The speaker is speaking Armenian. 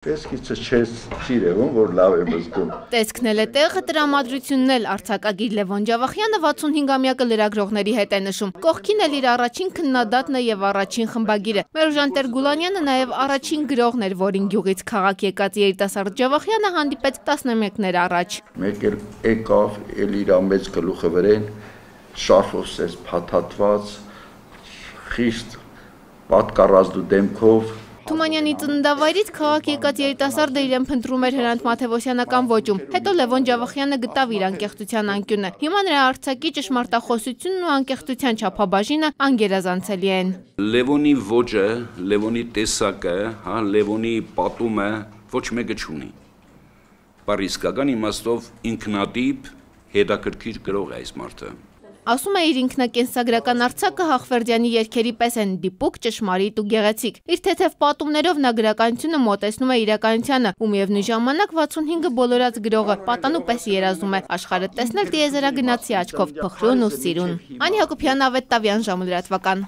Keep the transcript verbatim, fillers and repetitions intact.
Տեսքիցը չես սիրևում, որ լավ եմ զգում։ Տեսքն էլ է տեղը, տրամադրությունն էլ արձակագիր Լևոն Ջավախյանը վաթսունհինգամյակը լրագրողների հետ է նշում։ Կողքին էլ իր առաջին քննադատն է եւ առաջին խմբագիրը։ Մերժան Տեր-Գուլանյանը նաեւ առաջին գրողն էր, որին գյուղից քաղաք եկած երիտասարդ Ջավախյանը հանդիպեց տասնամյակներ առաջ։ Մեկ էլ եկավ, էլ իր մեծ գլուխը վրեն, շարֆով սես փաթաթված, խիստ պատկառազդու դեմքով։ Թումանյանի ծննդավայրից քաղաք եկած երիտասարդը իրեն փնտրում էր Հրանտ Մաթևոսյանական ոճում։ Հետո Լևոն Ջավախյանը գտավ իր անկեղծության անկյունը։ Հիմա նրա արձակի ճշմարտախոսությունն ու անկեղծության չափաբաժինը անգերազանցելի են։ Լևոնի ոճը, Լևոնի տեսակը, հա, Լևոնի պատումը ոչ մեկը չունի։ Պարիսկական իմաստով ինքնատիպ, հետաքրքիր գրող է այս մարդը։ Ասում է իր ինքնակենսագրական արձակը Հախվերդյանի երգերի պես են դիպուկ, ճշմարիտ ու գեղեցիկ։ Իր թեթև պատումներով նա գրականությունը մոտեցնում է իրականությանը, ու միևնույն ժամանակ վաթսունհինգը բոլորած գրողը պատանու պես երազում է աշխարհը տեսնել տիեզերագնացի աչքով, փխրուն ու սիրուն։ Անի Հակոբյան, Ավետ Տավյան, ժամը լրատվական։